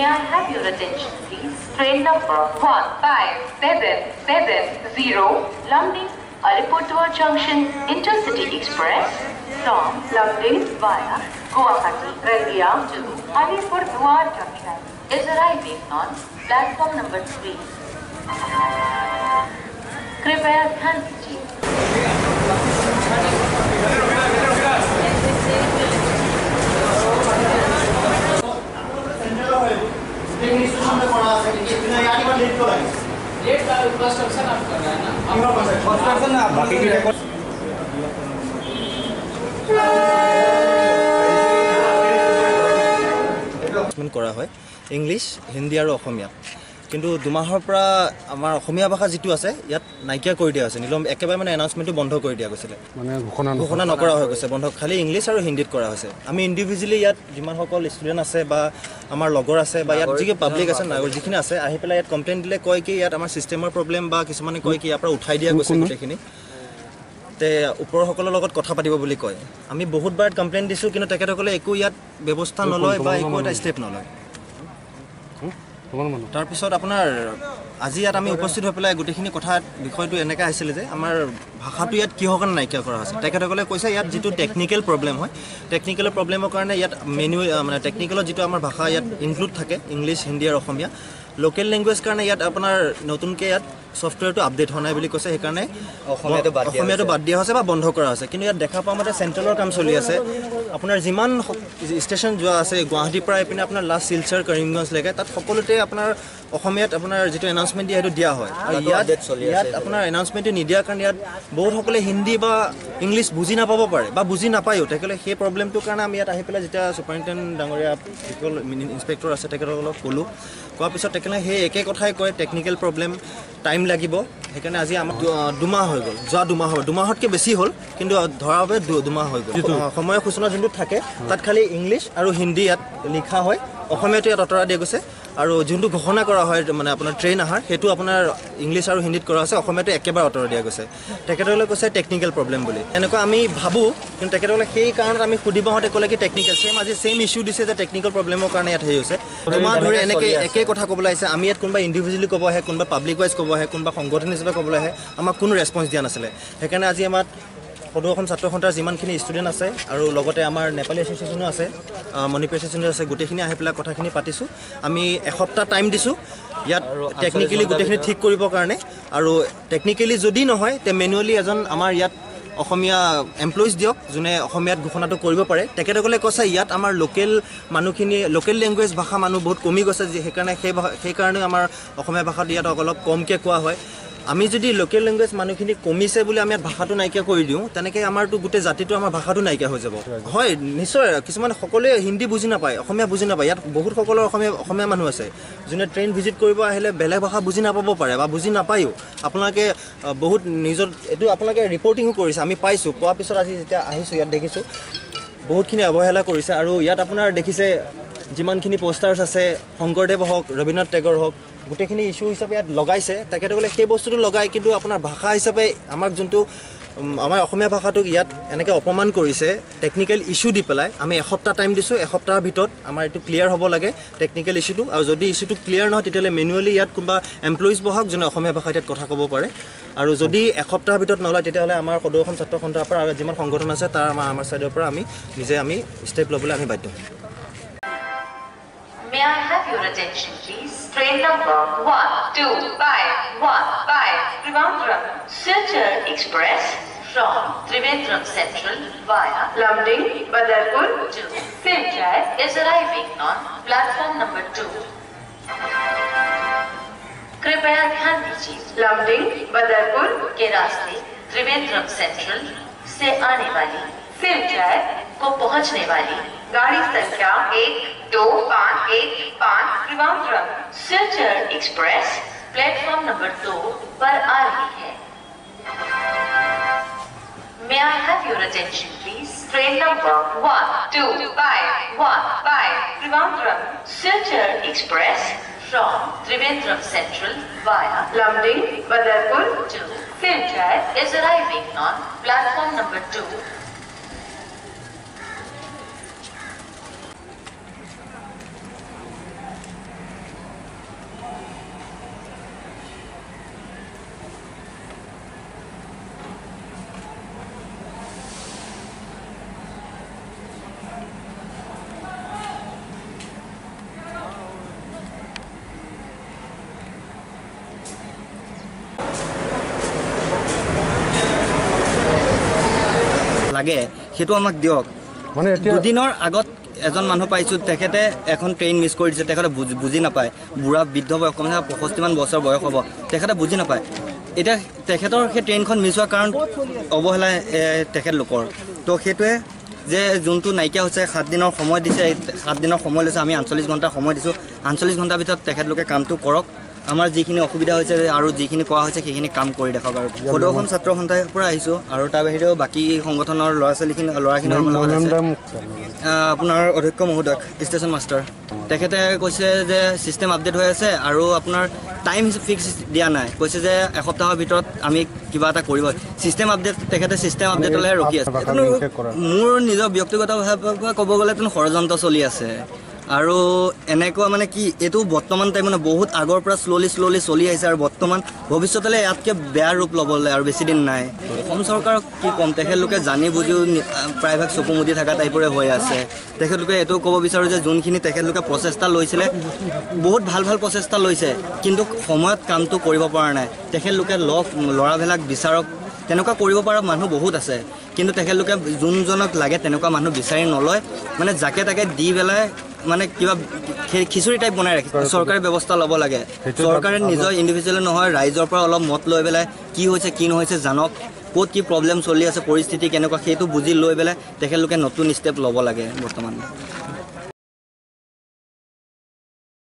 I have your attention, please? Train number 15770 Lumding Alipurduar Junction Intercity Express from Lumding via Guwahati, Rangia to Alipurduar Junction is arriving on platform number 3. कृपया ध्यान दीजिए। কৰা হয় English, Hindi আৰু অসমীয়া। কিন্তু দুমাহৰ পৰা আমাৰ অসমীয়া ভাষা যিটো আছে ইয়াত নাইকিয়া কৰি দিয়া হৈছে। নিলম একেবাৰে মানে এনাউন্সমেণ্টটো বন্ধ কৰি দিয়া গৈছিলে, মানে ঘোষণা নকৰা হৈ গৈছে, বন্ধ, খালি ইংলিছ আৰু হিন্দীত কৰা হৈছে। আমি ইণ্ডিভিজুৱেলি ইয়াত যিমানসকল ষ্টুডেণ্ট আছে বা আমাৰ লগৰ আছে বা ইয়াত যি পাব্লিক আছে, নাগৰিক যিখিনি আছে, আহি পেলাই ইয়াত কমপ্লেইন দিলে কয় কি ইয়াত আমাৰ ছিষ্টেমৰ প্ৰব্লেম, বা কিছুমানে কয় কি ইয়াৰ পৰা উঠাই দিয়া গৈছে গোটেইখিনি, তে ওপৰসকলৰ লগত কথা পাতিব বুলি কয়। আমি বহুতবাৰ কমপ্লেইন দিছোঁ, কিন্তু তেখেতসকলে একো ইয়াত ব্যৱস্থা নলয় বা একো এটা ষ্টেপ নলয়। তাৰপিছত আপোনাৰ আজি ইয়াত আমি উপস্থিত হৈ পেলাই গোটেইখিনি কথা বিষয়টো এনেকৈ আহিছিলে যে আমাৰ ভাষাটো ইয়াত কিহৰ কাৰণে নাইকিয়া কৰা হৈছে। তেখেতসকলে কৈছে ইয়াত যিটো টেকনিকেল প্ৰব্লেম হয়, টেকনিকেল প্ৰব্লেমৰ কাৰণে ইয়াত মেনু মানে টেকনিকেলত যিটো আমাৰ ভাষা ইয়াত ইনক্লুড থাকে ইংলিছ, হিন্দী আৰু অসমীয়া, লোকেল লেংগুৱেজ কাৰণে ইয়াত আপোনাৰ নতুনকৈ ইয়াত ছফ্টৱেৰটো আপডেট হোৱা নাই বুলি কৈছে, সেইকাৰণে অসমীয়াটো বাদ দিয়া হৈছে বা বন্ধ কৰা হৈছে। কিন্তু ইয়াত দেখা পোৱা মতে চেণ্ট্ৰেলৰ কাম চলি আছে। আপোনাৰ যিমান ষ্টেচন যোৱা আছে গুৱাহাটীৰ পৰা এইপিনে আপোনাৰ লাষ্ট শিলচৰ, কৰিমগঞ্জলৈকে, তাত সকলোতে আপোনাৰ অসমীয়াত আপোনাৰ যিটো এনাউন্সমেণ্ট দিয়ে সেইটো দিয়া হয়। আৰু ইয়াত আপোনাৰ এনাউন্সমেণ্টটো নিদিয়াৰ কাৰণে ইয়াত বহুতসকলে হিন্দী বা ইংলিছ বুজি নাপাব পাৰে বা বুজি নাপায়ো। তেখেতে সেই প্ৰব্লেমটোৰ কাৰণে আমি ইয়াত আহি পেলাই যেতিয়া ছুপাৰিণ্টেণ্ডেণ্ট ডাঙৰীয়া যিসকল ইনস্পেক্টৰ আছে তেখেতসকলক ক'লোঁ, কোৱাৰ পিছত তেখেতে সেই একে কথাই কয়, টেকনিকেল প্ৰব্লেম, টাইম লাগিব। সেইকাৰণে আজি আমাৰ দুমাহ হৈ গ'ল, যোৱা দুমাহ হ'ল, দুমাহতকৈ বেছি হ'ল, কিন্তু ধৰা বাবে দুমাহ হৈ গ'ল। সময়ৰ সূচনা যোনটো থাকে তাত খালি ইংলিছ আৰু হিন্দী ইয়াত লিখা হয়, অসমীয়াটো ইয়াত আঁতৰাই দিয়া গৈছে। আৰু যোনটো ঘোষণা কৰা হয় মানে আপোনাৰ ট্ৰেইন আহাৰ, সেইটো আপোনাৰ ইংলিছ আৰু হিন্দীত কৰা হৈছে, অসমীয়াটো একেবাৰে আঁতৰাই দিয়া গৈছে। তেখেতসকলে কৈছে টেকনিকেল প্ৰব্লেম বুলি, এনেকুৱা আমি ভাবোঁ। কিন্তু তেখেতসকলে সেই কাৰণত আমি সুধিব হওঁতে ক'লে কি টেকনিকেল, ছেম আজি ছেইম ইছ্যু দিছে যে টেকনিকেল প্ৰব্লেমৰ কাৰণে ইয়াত হেৰি হৈছে। দুমাহ ধৰি এনেকৈ একে কথা ক'বলৈ আহিছে। আমি ইয়াত কোনোবা ইণ্ডিভিজুৱেলি ক'ব আহে, কোনোবা পাব্লিক ৱাইজ ক'ব আহে, কোনোবা সংগঠন হিচাপে ক'বলৈ আহে, আমাক কোনো ৰেছপঞ্চ দিয়া নাছিলে। সেইকাৰণে আজি আমাৰ সদৌ অসম ছাত্ৰ সন্থাৰ যিমানখিনি ষ্টুডেণ্ট আছে আৰু লগতে আমাৰ নেপালী এছ'চিয়েশ্যনো আছে, মণিপুৰ এছ'চিয়েশ্যনো আছে, গোটেইখিনি আহি পেলাই কথাখিনি পাতিছোঁ। আমি এসপ্তাহ টাইম দিছোঁ ইয়াত টেকনিকেলি গোটেইখিনি ঠিক কৰিবৰ কাৰণে। আৰু টেকনিকেলি যদি নহয় তে মেনুৱেলি এজন আমাৰ ইয়াত অসমীয়া এমপ্লয়িজ দিয়ক যোনে অসমীয়াত ঘোষণাটো কৰিব পাৰে। তেখেতসকলে কৈছে ইয়াত আমাৰ লোকেল মানুহখিনি, লোকেল লেংগুৱেজ ভাষা মানুহ বহুত কমি গৈছে, সেইকাৰণে সেইকাৰণে আমাৰ অসমীয়া ভাষাটো ইয়াত অলপ কমকৈ কোৱা হয়। আমি যদি লোকেল লেংগুৱেজ মানুহখিনি কমিছে বুলি আমি ইয়াত ভাষাটো নাইকিয়া কৰি দিওঁ, তেনেকৈ আমাৰতো গোটেই জাতিটো আমাৰ ভাষাটো নাইকিয়া হৈ যাব। হয় নিশ্চয়, কিছুমান সকলোৱে হিন্দী বুজি নাপায়, অসমীয়া বুজি নাপায়। ইয়াত বহুত সকলৰ অসমীয়া মানুহ আছে যোনে ট্ৰেইন ভিজিট কৰিব আহিলে বেলেগ ভাষা বুজি নাপাব পাৰে বা বুজি নাপায়ো। আপোনালোকে বহুত নিজত এইটো আপোনালোকে ৰিপৰ্টিঙো কৰিছে, আমি পাইছোঁ। পোৱাৰ পিছত আজি যেতিয়া আহিছোঁ ইয়াত দেখিছোঁ বহুতখিনি অৱহেলা কৰিছে। আৰু ইয়াত আপোনাৰ দেখিছে যিমানখিনি প'ষ্টাৰ্ছ আছে, শংকৰদেৱ হওক, ৰবীন্দ্ৰনাথ টেগৰ হওক, গোটেইখিনি ইছ্যু হিচাপে ইয়াত লগাইছে। তেখেতসকলে সেই বস্তুটো লগাই কিন্তু আপোনাৰ ভাষা হিচাপে আমাক যোনটো আমাৰ অসমীয়া ভাষাটোক ইয়াত এনেকৈ অপমান কৰিছে টেকনিকেল ইছ্যু দি পেলাই। আমি এসপ্তাহ টাইম দিছোঁ, এসপ্তাহৰ ভিতৰত আমাৰ এইটো ক্লিয়াৰ হ'ব লাগে টেকনিকেল ইছ্যুটো। আৰু যদি ইছ্যুটো ক্লিয়াৰ নহয় তেতিয়াহ'লে মেনুৱেলি ইয়াত কোনোবা এমপ্লয়িজ বহাওক যোনে অসমীয়া ভাষাত ইয়াত কথা ক'ব পাৰে। আৰু যদি এসপ্তাহৰ ভিতৰত নলয় তেতিয়াহ'লে আমাৰ সদৌ অসম ছাত্ৰ সন্থাৰ পৰা আৰু যিমান সংগঠন আছে তাৰ আমাৰ ছাইডৰ পৰা আমি নিজে আমি ষ্টেপ ল'বলৈ আমি বাধ্য হ'ম। May I have your attention, please? Train number 12515 Trivandrum Silchar Express from Trivandrum Central via Lumding, Badarpur to Silchar is arriving on platform number 2. कृपया ध्यान दीजिए। Lumding, Badarpur के रास्ते त्रिवेंद्रम सेंट्रल से आने वाली सिलचर को पहुंचने वाली गाड़ी संख्या 12515 Trivandrum Silchar express platform number 2 पर आ रही है। May I have your attention, please? Train number 12515 Trivandrum Silchar Express from Trivandrum Central via Lumding, Badarpur to Silchar is arriving on platform number 2. লাগে সেইটো আমাক দিয়ক। দুদিনৰ আগত এজন মানুহ পাইছোঁ, তেখেতে এখন ট্ৰেইন মিছ কৰি দিছে, তেখেতে বুজি নাপায়, বুঢ়া বৃদ্ধ বয়স কমচে 65মান বছৰ বয়স হ'ব, তেখেতে বুজি নাপায়। এতিয়া তেখেতৰ সেই ট্ৰেইনখন মিছ হোৱাৰ কাৰণ অৱহেলা তেখেতলোকৰ। তো সেইটোৱে যে যোনটো নাইকিয়া হৈছে, 7 দিনৰ সময় দিছে, 7 দিনৰ সময় লৈছে, আমি 48 ঘণ্টা সময় দিছোঁ। 48 ঘণ্টাৰ ভিতৰত তেখেতলোকে কামটো কৰক, আমাৰ যিখিনি অসুবিধা হৈছে আৰু যিখিনি কোৱা হৈছে সেইখিনি কাম কৰি দেখাওক। আৰু সদৌ অসম ছাত্ৰ সন্থাৰ পৰা আহিছোঁ আৰু তাৰ বাহিৰেও বাকী সংগঠনৰ ল'ৰা ছোৱালীখিনি ল'ৰাখিনি লগত আছে। আপোনাৰ অধ্যক্ষ মহোদয় ষ্টেচন মাষ্টাৰ, তেখেতে কৈছে যে ছিষ্টেম আপডেট হৈ আছে আৰু আপোনাৰ টাইম ফিক্স দিয়া নাই, কৈছে যে এসপ্তাহৰ ভিতৰত আমি কিবা এটা কৰিব। ছিষ্টেম আপডেট, তেখেতে ছিষ্টেম আপডেটলৈহে ৰখি আছে। মোৰ নিজৰ ব্যক্তিগতভাৱে ক'ব গ'লে ষড়যন্ত্ৰ চলি আছে আৰু এনেকুৱা মানে কি এইটো বৰ্তমান টাইম মানে বহুত আগৰ পৰা শ্ল'লি শ্ল'লি চলি আহিছে আৰু বৰ্তমান ভৱিষ্যতলৈ ইয়াতকৈ বেয়া ৰূপ ল'বলৈ আৰু বেছি দিন নাই। অসম চৰকাৰক কি ক'ম, তেখেতলোকে জানি বুজিও প্ৰায়ভাগ চকু মুদি থকা টাইপৰে হৈ আছে। তেখেতলোকে এইটো ক'ব বিচাৰোঁ যে যোনখিনি তেখেতলোকে প্ৰচেষ্টা লৈছিলে, বহুত ভাল ভাল প্ৰচেষ্টা লৈছে, কিন্তু সময়ত কামটো কৰিব পৰা নাই। তেখেতলোকে লগ ল'ৰাবিলাক বিচাৰক, তেনেকুৱা কৰিব পৰা মানুহ বহুত আছে, কিন্তু তেখেতলোকে যোনজনক লাগে তেনেকুৱা মানুহ বিচাৰি নলয়, মানে যাকে তাকে দি পেলাই মানে কিবা খিচুৰি টাইপ বনাই ৰাখিছে। চৰকাৰে ব্যৱস্থা ল'ব লাগে, চৰকাৰে নিজৰ ইণ্ডিভিজুৱেলি নহয়, ৰাইজৰ পৰা অলপ মত লৈ পেলাই কি হৈছে কি নহৈছে জানক, ক'ত কি প্ৰব্লেম চলি আছে, পৰিস্থিতি কেনেকুৱা সেইটো বুজি লৈ পেলাই তেখেতলোকে নতুন ষ্টেপ ল'ব লাগে বৰ্তমান।